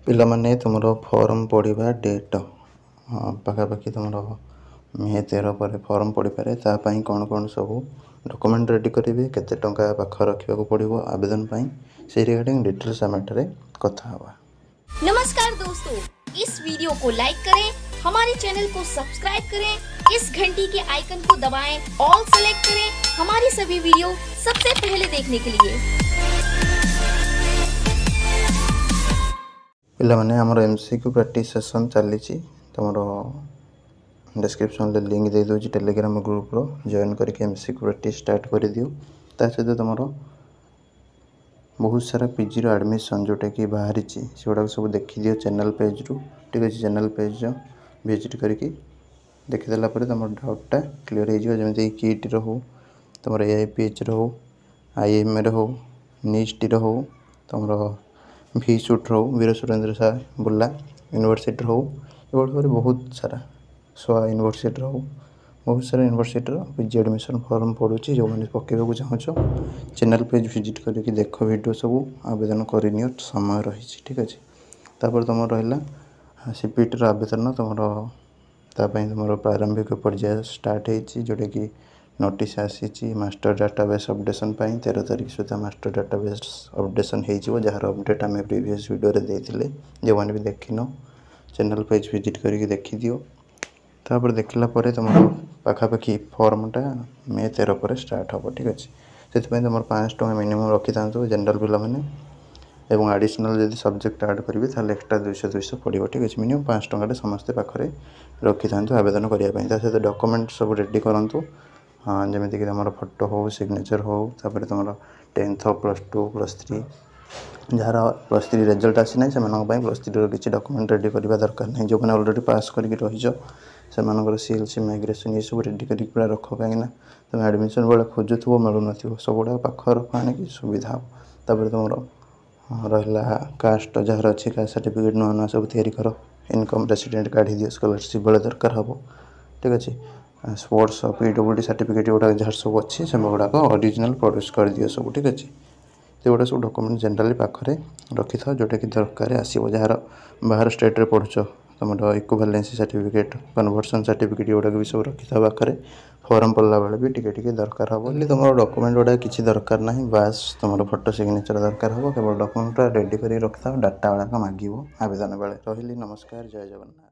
ପିଲାମାନେ, ତୁମର ଫର୍ମ ପଡ଼ିବା ଡେଟ୍ ପାଖାପାଖି ତୁମର ମେ 13 ପରେ ଫର୍ମ ପଡ଼ିପାରେ। ତା ପାଇଁ କ'ଣ କ'ଣ ସବୁ ଡକୁମେଣ୍ଟ ରେଡ଼ି କରିବେ, କେତେ ଟଙ୍କା ପାଖ ରଖିବାକୁ ପଡ଼ିବ ଆବେଦନ ପାଇଁ, ସେଇ ରିଗାର୍ଡ଼ିଂ ଡିଟେଲ୍ସ ଆମେ ଏଠାରେ କଥା ହେବା। नमस्कार दोस्तों, इस वीडियो को लाइक करें, हमारे चैनल को सब्सक्राइब करें, इस घंटी के आइकन को दबाएं, ऑल सेलेक्ट करें हमारी सभी वीडियो सबसे पहले देखने के लिए। ପିଲାମାନେ, ଆମର MCQ practice session ଚାଲିଛି। ତୁମର ଡେସ୍କ୍ରିପସନ୍ରେ ଲିଙ୍କ୍ ଦେଇଦେଉଛି ଟେଲିଗ୍ରାମ ଗ୍ରୁପ୍ର, ଜଏନ୍ କରିକି MCQ practice start କରିଦିଅ। ତା ସହିତ ତୁମର ବହୁତ ସାରା ପିଜିର ଆଡ଼ମିସନ୍ ଯେଉଁଟାକି ବାହାରିଛି, ସେଗୁଡ଼ାକ ସବୁ ଦେଖିଦିଅ ଚ୍ୟାନେଲ୍ ପେଜ୍ରୁ। ଠିକ୍ ଅଛି, ଚ୍ୟାନେଲ୍ ପେଜ୍ର ଭିଜିଟ୍ କରିକି ଦେଖିଦେଲା ପରେ ତୁମର ଡାଉଟ୍ଟା କ୍ଲିଅର୍ ହେଇଯିବ। ଯେମିତିକି କିଟ୍ର ହଉ, ତୁମର ଏଆଇପିଏଚ୍ର ହଉ, ଆଇଏମ୍ଏର ହଉ, ନିଷ୍ଟିର ହଉ, ତୁମର ଭିସୁଟ୍ର ହଉ, ବୀର ସୁରେନ୍ଦ୍ର ସାଏ ବୁର୍ଲା ୟୁନିଭର୍ସିଟିର ହଉ, ଏଭଳି ଭାବରେ ବହୁତ ସାରା ସୋଆ ୟୁନିଭର୍ସିଟିର ହଉ, ବହୁତ ସାରା ୟୁନିଭର୍ସିଟିର ପିଜି ଆଡ଼ମିସନ୍ ଫର୍ମ ପଡ଼ୁଛି। ଯେଉଁମାନେ ପକାଇବାକୁ ଚାହୁଁଛ, ଚ୍ୟାନେଲ୍ ପେଜ୍ ଭିଜିଟ୍ କରିକି ଦେଖ ଭିଡ଼ିଓ ସବୁ, ଆବେଦନ କରିନିଅ, ସମୟ ରହିଛି। ଠିକ୍ ଅଛି, ତାପରେ ତୁମର ରହିଲା ସିପିଟିର ଆବେଦନ। ତୁମର ତା ପାଇଁ ତୁମର ପ୍ରାରମ୍ଭିକ ପର୍ଯ୍ୟାୟ ଷ୍ଟାର୍ଟ ହେଇଛି, ଯେଉଁଟାକି ନୋଟିସ୍ ଆସିଛି ମାଷ୍ଟର ଡାଟାବେସ୍ ଅପଡ଼େସନ୍ ପାଇଁ। 13 ତାରିଖ ସୁଦ୍ଧା ମାଷ୍ଟର ଡାଟାବେସ୍ ଅପଡ଼େସନ୍ ହେଇଯିବ, ଯାହାର ଅପଡ଼େଟ୍ ଆମେ ପ୍ରିଭିୟସ୍ ଭିଡ଼ିଓରେ ଦେଇଥିଲେ। ଯେଉଁମାନେ ବି ଦେଖିନ, ଚ୍ୟାନେଲ୍ ପେଜ୍ ଭିଜିଟ୍ କରିକି ଦେଖିଦିଅ। ତାପରେ ଦେଖିଲା ପରେ ତୁମର ପାଖାପାଖି ଫର୍ମଟା ମେ 13 ପରେ ଷ୍ଟାର୍ଟ ହେବ। ଠିକ୍ ଅଛି, ସେଥିପାଇଁ ତୁମର 500 ଟଙ୍କା ମିନିମମ୍ ରଖିଥାନ୍ତୁ ଜେନେରାଲ୍ ପିଲାମାନେ ଏବଂ ଆଡ଼ିସନାଲ୍ ଯଦି ସବଜେକ୍ଟ ଆଡ଼୍ କରିବେ, ତାହେଲେ ଏକ୍ସଟ୍ରା 200 200 ପଡ଼ିବ। ଠିକ୍ ଅଛି, ମିନିମମ୍ 500 ଟଙ୍କାଟେ ସମସ୍ତେ ପାଖରେ ରଖିଥାନ୍ତୁ ଆବେଦନ କରିବା ପାଇଁ। ତା ସହିତ ଡକୁମେଣ୍ଟ ସବୁ ରେଡ଼ି କରନ୍ତୁ, ହଁ, ଯେମିତିକି ତୁମର ଫଟୋ ହେଉ, ସିଗ୍ନେଚର୍ ହେଉ, ତାପରେ ତୁମର 10th, +2, +3। ଯାହାର +3 ରେଜଲ୍ଟ ଆସିନାହିଁ, ସେମାନଙ୍କ ପାଇଁ +3ର କିଛି ଡକୁମେଣ୍ଟ ରେଡ଼ି କରିବା ଦରକାର ନାହିଁ। ଯେଉଁମାନେ ଅଲରେଡ଼ି ପାସ୍ କରିକି ରହିଛ, ସେମାନଙ୍କର ସିଏଲ୍ସି, ମାଇଗ୍ରେସନ୍ ଏସବୁ ରେଡ଼ି କରିକି ପୁରା ରଖ, କାହିଁକିନା ତୁମେ ଆଡ଼ମିସନ୍ ବେଳେ ଖୋଜୁଥିବ, ମିଳୁନଥିବ। ସବୁଗୁଡ଼ାକ ପାଖରେ ରଖ ଆଣିକି, ସୁବିଧା ହେବ। ତାପରେ ତୁମର ରହିଲା କାଷ୍ଟ, ଯାହାର ଅଛି କାଷ୍ଟ ସାର୍ଟିଫିକେଟ୍ ନୂଆ ନୂଆ ସବୁ ତିଆରି କର। ଇନକମ୍ ରେସିଡେଣ୍ଟ କାଢ଼ିଦିଅ, ସ୍କଲାରସିପ୍ ବେଳେ ଦରକାର ହେବ। ଠିକ୍ ଅଛି, ସ୍ପୋର୍ଟସ୍, ପିଡବ୍ଲ୍ୟୁଡି ସାର୍ଟିଫିକେଟ୍ ଗୁଡ଼ାକ ଯାହାର ସବୁ ଅଛି, ସେଗୁଡ଼ାକ ଅରିଜିନାଲ୍ ପ୍ରଡ୍ୟୁସ୍ କରିଦିଅ ସବୁ। ଠିକ୍ ଅଛି, ସେଗୁଡ଼ା ସବୁ ଡକୁମେଣ୍ଟ ଜେନେରାଲି ପାଖରେ ରଖିଥାଅ, ଯେଉଁଟାକି ଦରକାର ଆସିବ। ଯାହାର ବାହାର ଷ୍ଟେଟ୍ରେ ପଢ଼ୁଛ, ତୁମର ଇକ୍ୱିଭାଲେନ୍ସି ସାର୍ଟିଫିକେଟ୍, କନଭର୍ସନ୍ ସାର୍ଟିଫିକେଟ୍ ଏଗୁଡ଼ାକ ବି ସବୁ ରଖିଥାଅ ପାଖରେ। ଫର୍ମ ପଡ଼ିଲା ବେଳେ ବି ଟିକେ ଟିକେ ଦରକାର ହେବ। ହେଲେ ତୁମର ଡକୁମେଣ୍ଟ ଗୁଡ଼ାକ କିଛି ଦରକାର ନାହିଁ, ବାସ୍ ତୁମର ଫଟୋ, ସିଗ୍ନେଚର୍ ଦରକାର ହେବ। କେବଳ ଡକୁମେଣ୍ଟଟା ରେଡ଼ି କରିକି ରଖିଥାଅ, ଡାଟା ଗୁଡ଼ାକ ମାଗିବ ଆବେଦନ ବେଳେ। ରହିଲି, ନମସ୍କାର, ଜୟ ଜଗନ୍ନାଥ।